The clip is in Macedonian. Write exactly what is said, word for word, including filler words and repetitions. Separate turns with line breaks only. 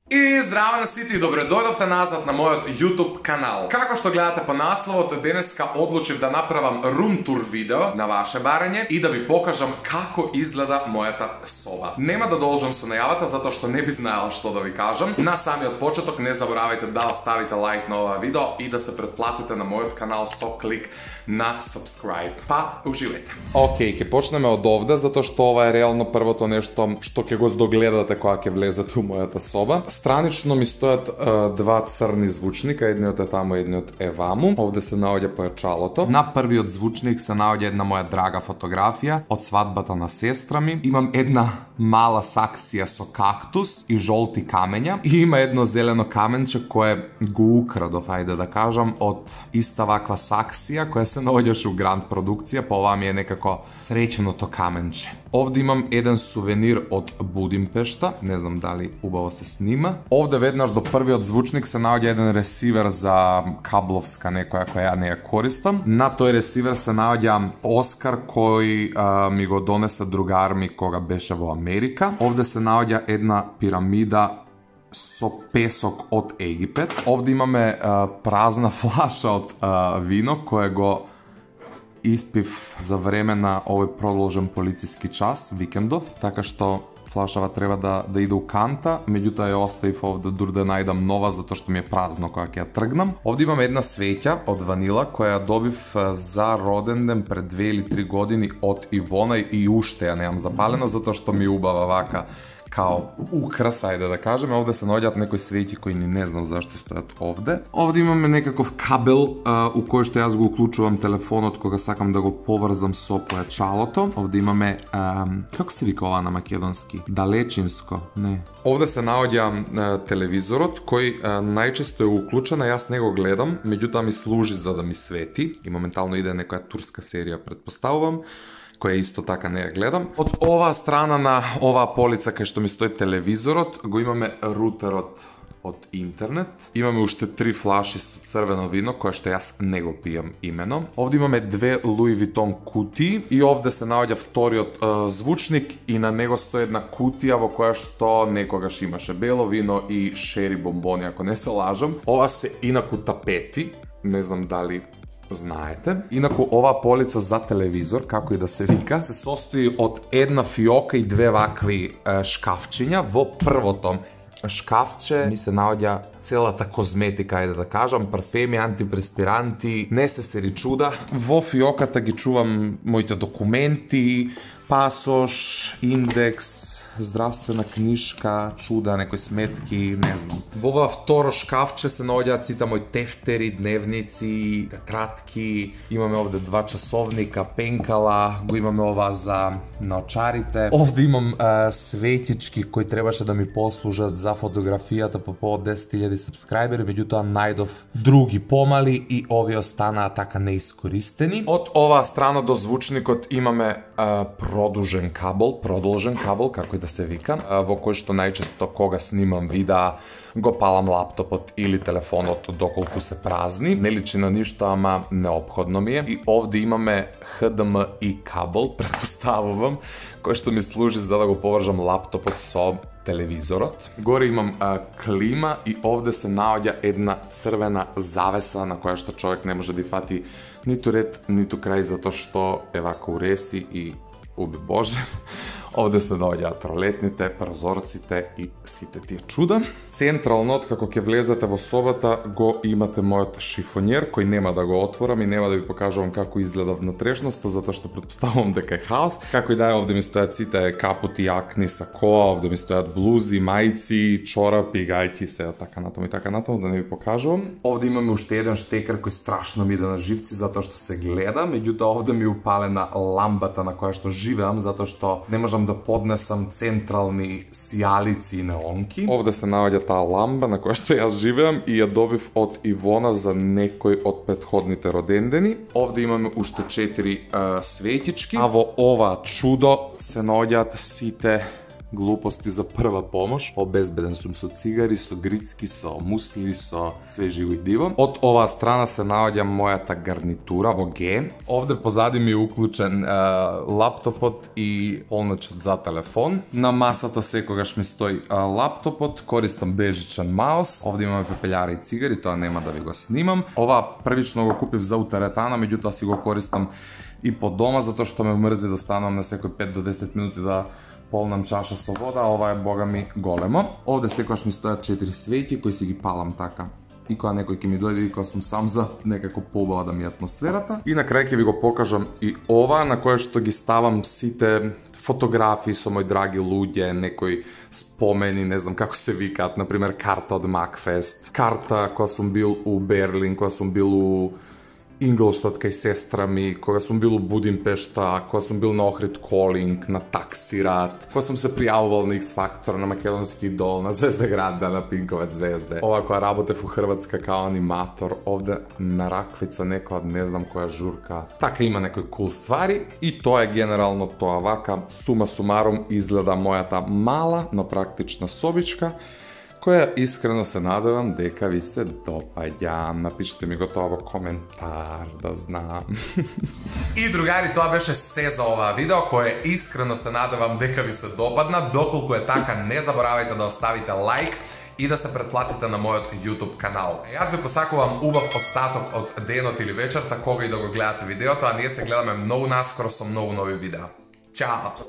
И здраво на сите и добре дојдовте назад на мојот YouTube канал. Како што гледате по насловот, денеска одлучив да направам рум тур видео на ваше барање и да ви покажам како изгледа мојата соба. Нема да должам со најавата затоа што не би знаел што да ви кажам. На самиот почеток не заборавајте да оставите лайк на ова видео и да се претплатите на мојот канал со клик на subscribe. Па, уживајте. Океј, ќе почнеме од овде затоа што ова е реално првото нешто што ќе го здогледате кога ќе влезете у мојата соба. Странично ми стојат е, два црни звучника, едниот е таму, едниот е ваму. Овде се наоѓа појачалото. На првиот звучник се наоѓа една моја драга фотографија од свадбата на сестра ми. Имам една мала саксија со кактус и жолти камења и има едно зелено каменче кое го украдов, ајде да кажам, од иста ваква саксија која се наоѓаше у Гранд продукција, па ова ми е некако среќеното каменче. Овде имам еден сувенир од Будимпешта, не знам дали убаво се снима. Овде веднаш до првиот звучник се наоѓа еден ресивер за кабловска некоја која ја не ја користам. На тој ресивер се наоѓа Оскар кој а, ми го донесе другар ми кога беше во Америка. Овде се наоѓа една пирамида со песок од Египет. Овде имаме а, празна флаша од а, вино кое го испив за време на овој продолжен полициски час, викендов, така што флашава треба да, да иде у канта, меѓутоа ја оставив овде дур да најдам нова, затоа што ми е празно кога ќе ја тргнам. Овде имам една свеќа од ванила, која ја добив за роден ден пред две или три години од Ивона и уште ја немам запалено, затоа што ми убава вака као украс, ајде да кажеме. Овде се наоѓаат некои свеќи кои ни не знам зашто стојат овде. Овде имаме некаков кабел а, у кој што јас го уклучувам телефонот кога сакам да го поврзам со појачалото. Овде имаме а, како се вика ова на македонски? Далечинско, не. Овде се наоѓа а, телевизорот кој а, најчесто е уклучен, а јас не го гледам, меѓутоа ми служи за да ми свети и моментално иде некоја турска серија, претпоставувам, која исто така не ја гледам. Од оваа страна на оваа полица кај што ми стои телевизорот, го имаме рутерот од интернет. Имаме уште три флаши со црвено вино, кое што јас не го пијам имено. Овде имаме две Луи Витон кутии и овде се наоѓа вториот е, звучник и на него стои една кутија во која што некогаш имаше бело вино и шери бомбони, ако не се лажам. Ова се инаку тапети, не знам дали знаете. Инаку оваа полица за телевизор, како и да се вика, се состои од една фиока и две вакви е, шкафчиња. Во првото шкафче ми се наоѓа целата козметика, ајде да кажам, парфеми, антипреспиранти, не се сери чуда. Во фиоката ги чувам моите документи, пасош, индекс, здравствена книшка, чуда, некои сметки, не знам. Во ова второ шкафче се наоѓаат сите мои тефтери, дневници, тетратки. Имаме овде два часовника, пенкала, го имаме ова за наочарите. Овде имам е, светички кои требаше да ми послужат за фотографијата по повод десет илјади сабскрајбери, меѓутоа најдов други помали и овие останаа така неискористени. Од оваа страна до звучникот имаме е, продужен кабел, продолжен кабел, како и да се вика, во кој што најчесто кога снимам видеа го палам лаптопот или телефонот доколку се празни. Не личи на ништо, ама неопходно ми е. И овде имаме Х Д М И кабел, претпоставувам, кој што ми служи за да го повржам лаптопот со телевизорот. Горе имам а, клима и овде се наоѓа една црвена завеса на која што човек не може да фати ниту ред, ниту крај, затоа што е вака уреси и уби Боже. Овде се наоѓаат ролетните, прозорците и сите тие чуда. Централно, откако ќе влезете во собата, го имате мојот шифонјер, кој нема да го отворам и нема да ви покажувам како изгледа внатрешноста, затоа што претпоставувам дека е хаос. Како и да е, овде ми стојат сите капути, јакни, сакоа, овде ми стојат блузи, мајци, чорапи, гајки, се така натаму и така натаму, да не ви покажувам. Овде имаме уште еден штекер кој страшно ми иде на живци затоа што се гледа, меѓутоа овде ми е упалена ламбата на која што живеам, затоа што не можам да поднесам централни сијалици и неонки. Овде се наоѓа таа ламба на која што јас живеам и ја добив од Ивона за некој од претходните родендени. Овде имаме уште четири е, светички, а во ова чудо се наоѓаат сите глупости за прва помош. Обезбеден сум со цигари, со грицки, со мусли, со све живо и диво. Од оваа страна се наоѓа мојата гарнитура во Г. Овде позади ми е уклучен е, лаптопот и полночот за телефон. На масата секогаш ми стои е, лаптопот, користам бежичен маус. Овде имаме пепелјари и цигари, тоа нема да ви го снимам. Ова првично го купив за утеретана, меѓутоа си го користам и по дома, затоа што ме мрзи да станам на секој пет до десет минути да полнам чаша со вода, а ова е бога ми големо. Овде секогаш ми стојат четири свеќи кои си ги палам така. И кога некој ќе ми дојде и кога сум сам за некако побава да ми е атмосферата. И на крај ќе ви го покажам и ова на кое што ги ставам сите фотографии со мои драги луѓе, некои спомени, не знам како се викаат, например карта од Макфест, карта кога сум бил у Берлин, кога сум бил у Инглштад кај сестра ми, кога сум бил у Будимпешта, кога сум бил на Охрид Колинг, на Таксират, кога сум се пријавувал на X Factor, на Македонски идол, на Звездеграда, на Пинковец звезде. Ова кога работев у Хрватска као аниматор, овде на раквица некоја од не знам која журка. Така има некои кул ствари и тоа е генерално тоа. Вака сума сумарум изгледа мојата мала, но практична собичка, која искрено се надевам дека ви се допаѓа. Напишете ми го тоа во коментар, да знам. И другари, тоа беше се за оваа видео, кое искрено се надевам дека ви се допадна. Доколку е така, не заборавајте да оставите лайк и да се претплатите на мојот YouTube канал. Јас ви посакувам убав остаток од денот или вечерта, кога и да го гледате видеото, а ние се гледаме многу наскоро со многу нови видеа. Чао!